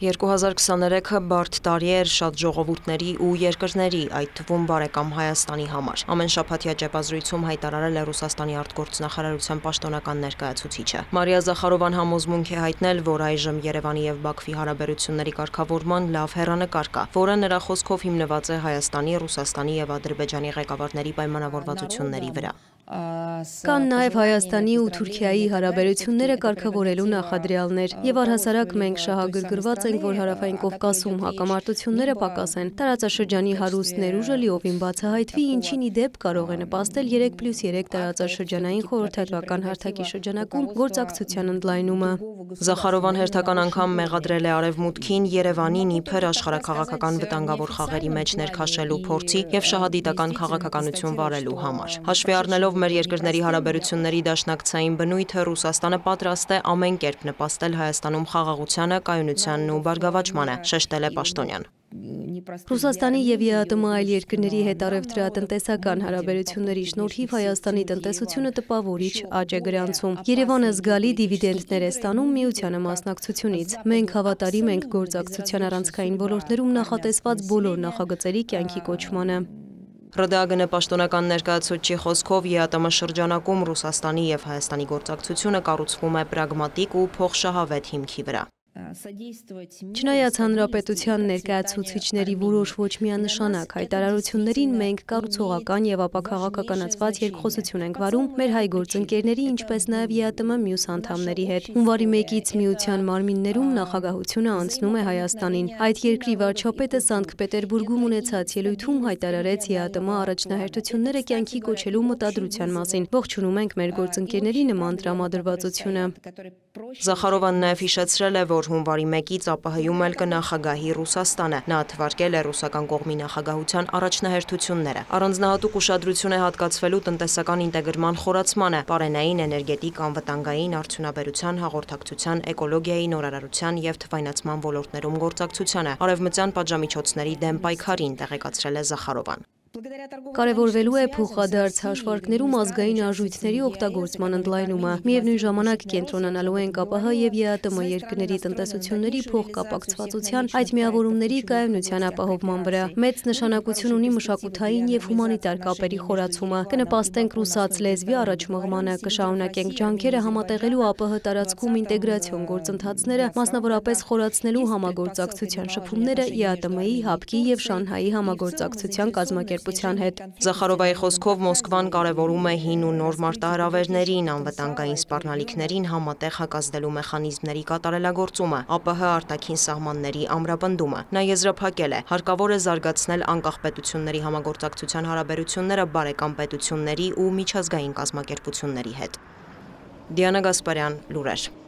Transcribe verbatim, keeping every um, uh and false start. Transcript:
երկու հազար քսաներեքը բարդ տարի էր շատ ժողովուրդների ու երկրների, այդ թվում բարեկամ Հայաստանի համար։ Ամեն շաբաթյա ճեպազրույցում հայտարարել է Ռուսաստանի արտգործնախարարության պաշտոնական ներկայացուցիչը։ Մարիա Զախարովան համոզմունք է հայտնել, որ այժմ Երևանի եւ Բաքվի հարաբերությունների կարգավորման լավ հեռանկար կա, որը նրա խոսքով հիմնված է Հայաստանի, Ռուսաստանի եւ Ադրբեջանի ղեկավարների պայմանավորվածությունների վրա։ Կան նաև Հայաստանի ու Թուրքիայի հարաբերությունները կարգավորելու նախադրյալներ, եւ առհասարակ մենք շահագրգռված ենք, որ Հարավային Կովկասում հակամարտությունները պակաս են, տարածաշրջանի հարուստ ներուժը լիովին բացահայտվի, ինչին ի դեպ կարող է նպաստել երեք պլյուս երեք տարածաշրջանային խորհրդատվական հարթակի շրջանակում գործակցության ընդլայնումը։ Զախարովան հերթական անգամ մեղադրել է Արևմուտքին Երևանին իբր աշխարհաքաղաքական վտանգավոր խաղերի մեջ ներքաշելու փորձի եւ շահադիտական քաղաքականություն վարելու համար։ Հաշվի առնելով մեր երկրների հարաբերությունների դաշնակցային բնույթը, Ռուսաստանը պատրաստ է ամեն կերպ նպաստել Հայաստանում խաղաղությանը, կայունությանն ու բարգավաճմանը, շեշտել է Պաշտոնյան։ Ռուսաստանի եւ ԵԱՏՄ այլ երկրների հետ առևտրատնտեսական հարաբերությունների շնորհիվ Հայաստանի տնտեսությունը տպավորիչ աճ է գրանցում։ Երևանը զգալի դիվիդենդներ է ստանում միությանը մասնակցությունից։ Մենք հավատարիմ ենք գործակցության առանցքային ոլորտներում նախատեսված բոլոր նախագծերի կյանքի կոչմանը։ ՌԴԱԳՆ պաշտոնական ներկայացուցչի խոսքով ԵԱՏՄ շրջանակում Ռուսաստանի եւ Հայաստանի գործակցությունը կառուցվում է պրագմատիկ ու փոխշահավետ հիմքի վրա։ Չնայած հանրապետության ներկայացուցիչների որոշ ոչ միանշանակ հայտարարություններին, մենք կառուցողական եւ ապաքաղաքականացված երկխոսություն ենք վարում մեր հայ գործընկերների, ինչպես նաեւ ԵԱՏՄ մյուս անդամների հետ։ Հունվարի մեկից միության մարմիններում նախագահությունը անցնում է Հայաստանին։ Այդ երկրի վարչապետը Սանկտ Պետերբուրգում ունեցած ելույթում հայտարարեց ԵԱՏՄ առաջնահերթությունները կյանքի կոչելու մտադրության մասին։ Ողջունում ենք մեր գործընկերների նման տրամադրվածությունը։ Զախարովան նաև հիշեցրել է, որ հունվարի մեկից ԱՊՀ-ում էլ կնախագահի Ռուսաստանը։ Նա թվարկել է ռուսական կողմի նախագահության առաջնահերթությունները։ Առանձնահատուկ ուշադրություն է հատկացվելու տնտեսական ինտեգրման խորացմանը, պարենային, էներգետիկ, անվտանգային, արդյունաբերության, հաղորդակցության, էկոլոգիայի, նորարարության եւ թվայնացման ոլորտներում գործակցությանը, արևմտյան պատժամիջոցների դեմ պայքարին, տեղեկացրել է Զախարովան։ Կարևորվելու է փոխադարձ հաշվարկներում ազգային արժույթների օգտագործման ընդլայնումը։ Միևնույն ժամանակ կենտրոնանալու ենք ԱՊՀ եւ ԵԱՏՄ երկրների տնտեսությունների փոխկապակցվածության այդ միավորումների կայունության ապահովման վրա։ Մեծ նշանակություն ունի մշակութային եւ հումանիտար կապերի խորացումը։ Կնպաստենք ռուսաց լեզվի առաջմղմանը, կշարունակենք ջանքերը համատեղելու ԱՊՀ տարածքում ինտեգրացիոն գործընթացները, մասնավորապես խորացնելու համագործակցության շփումները ԵԱՏՄ-ի, ՀԱՊԿ-ի եւ Շանհայի համագործակցության կազմակերպ Զախարովայի խոսքով Մոսկվան կարևորում է հին ու նոր մարտահրավերներին, անվտանգային սպառնալիքներին համատեղ հակազդելու մեխանիզմների կատարելագործումը, ԱՊՀ արտաքին սահմանների ամրապնդումը։ Նա եզրափակել է, հարկավոր է զարգացնել անկախ պետությունների համագործակցության հարաբերությունները բարեկամ պետությունների ու միջազգային կազմակերպությունների հետ։ Դիանա Գասպարյան, լուրեր։